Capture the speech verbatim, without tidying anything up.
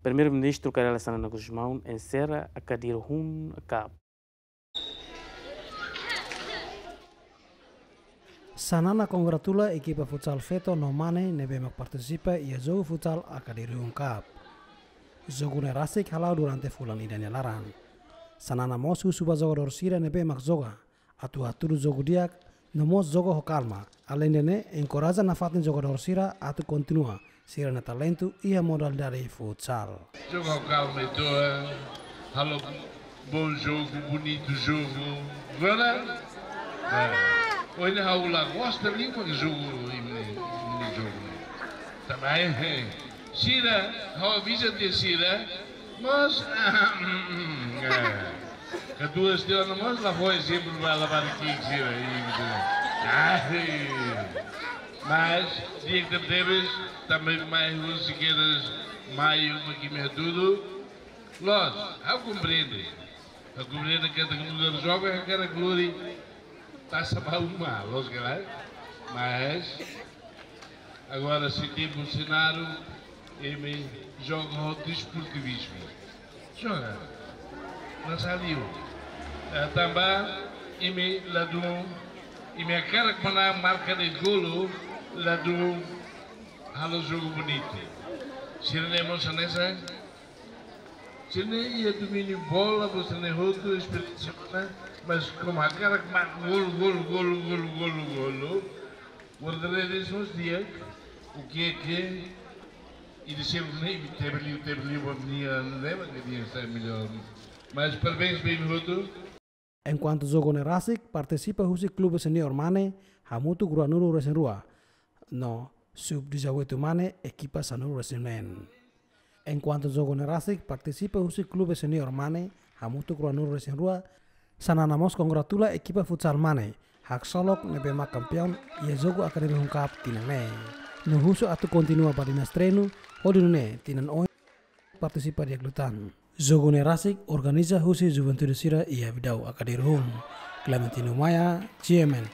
Primeiru-Ministru Kay Rala Xanana Gusmão enserra ACADIR um Cup. Xanana kongratula ekipa futsal feto no mane ne'ebé mak partisipa iha jogu futsal ACADIR um Cup. Jogu ne'e rasik hala'o durante fulan ida nia laran. Xanana mós husu ba jogadór sira ne'ebé mak joga atu hatudu jogu di'ak no mós joga ho kalma. Aleinde ne'e, enkoraja nafatin jogadór sira atu kontinua sira-nia talentu iha modalidade futsal. Joga ho kalma, entaun, halo bom jogu, bonitu jogu. Agora, é, ohin ha'u la gosta liu mak jogu, imi-nia, imi-nia jogu. Tanba, é, sira, ha'u avisa de'it sira, mas, é, katuas tiha ona mós la fó ezemplu ba labarik ki'ik sira, imi sira. Ai. Mas, di'ak tebetebes, tanba mai husi kedas mai uma imi hatudu. Loos, ha'u komprende. Ha'u komprende katak nu'udar joven hakarak lori tasak ba uma, loos ka lae? Mas, agora se tempu senáriu, imi joga ho desportivizmu. Joga. Não saiu. Eh, tanba, imi ladún, imi hakarak manán marka de'it golu, ladún halo jogu bonitu. Sira-ne'e mós hanesan, sira-ne'e iha domíniu bola, sira-ne'e hotu, esperiénsia ona, mas komu hakarak marka golu, golu, golu. Guarda-redes mós di'ak, o que é que, e de sempre nem, teve ali, teve ali uma menina, não lembra que devia estar melhor. Mas parabéns ba imi hotu. Enkuantu jogu ne'e rasik, partisipa husi klube seniór mane hamutuk ruanulu-resin-rua, no sub dezoito mane ekipa sanulu-resin-neen. Enkuantu jogu ne'e rasik, partisipa husi klube seniór mane hamutuk ruanulu-resin-rua, Xanana mós kongratula ekipa futsal mane haksolok ne'ebé mak kampiaun iha jogu ACADIR um Cup tinan ne'e. No husu atu kontinua ba dinas treinu, hodi nune'e tinan oin partisipa di'ak liután. Jogu ne'e rasik organiza husi juventude sira iha Abidau ACADIR um. Clementino Maia, G M N.